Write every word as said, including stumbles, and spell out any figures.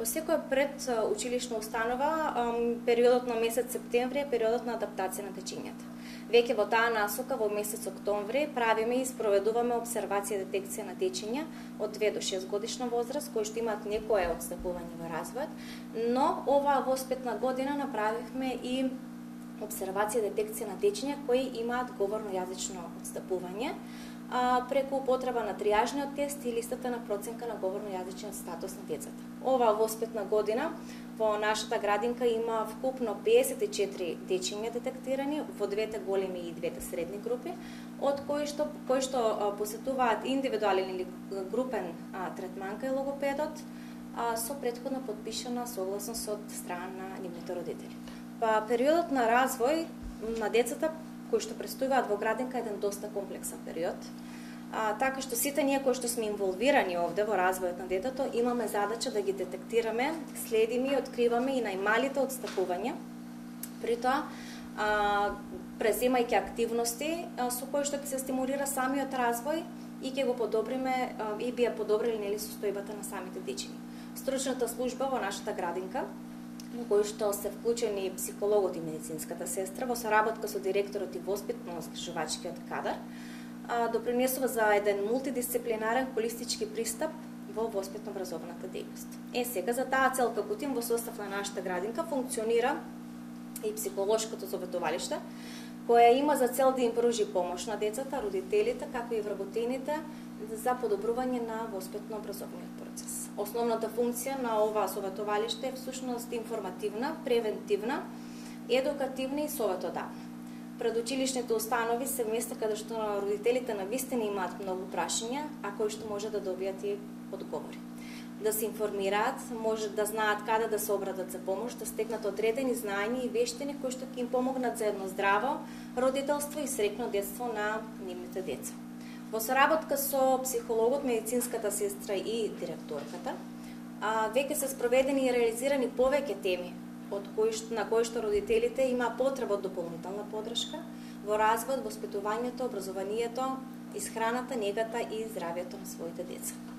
Во секоја пред училишна установа, периодот на месец септември е периодот на адаптација на дечињата. Веќе во таа насока во месец октомври правиме и спроведуваме обсервација и детекција на дечиња од две до шест годишна возраст кои што имаат некое отстапување во развојот, но оваа воспитна година направивме и обсервација и детекција на дечиња кои имаат говорно-јазично отстапување а, преку употреба на тријажниот тест и листата на проценка на говорно-јазичен статус на децата. Оваа воспитна година во нашата градинка има вкупно пеесет и четири дечиња детектирани во двете големи и двете средни групи, од кои што кои што а, посетуваат индивидуален или групен а, третман кај логопедот а, со претходно подпишана согласност од страна на нивните родители. Па периодот на развој на децата кои што престојуваат во градинка е еден доста комплексен период. А, така што сите ние кои што сме инволвирани овде во развојот на детето имаме задача да ги детектираме, следиме и откриваме и најмалите отстапувања. При тоа а, преземајќи активности а, со кои што ќе се стимулира самиот развој и ќе го подобриме а, и би ја подобрили нели состојбата на самите дечиња. Стручната служба во нашата градинка во кој што се вклучени психологот и медицинската сестра во соработка со директорот и воспитно-згрижувачкиот кадар, допринесува за еден мултидисциплинарен холистички пристап во воспитно-образовната дејност. Е сега за таа цел како тим во состав на нашата градинка функционира и психолошкото советувалиште, која има за цел да им пружи помош на децата, родителите, како и вработените за подобрување на воспитно-образовниот процес. Основната функција на оваа советувалиште е всушност информативна, превентивна, едукативна и советодавна. Предучилишните установи се места каде што родителите навистина имаат многу прашања, а кои што може да добијат и одговори. Да се информираат, може да знаат каде да се обратат за помош, да стекнат одредени знаења и вештини кои што ќе им помогнат за едно здраво родителство и среќно детство на нивните деца. Во соработка со психологот, медицинската сестра и директорката, веќе се спроведени и реализирани повеќе теми од кои што, на кои што родителите има потреба од дополнителна поддршка во развојот, воспитувањето, образованието, исхраната, негата и здравјето на своите деца.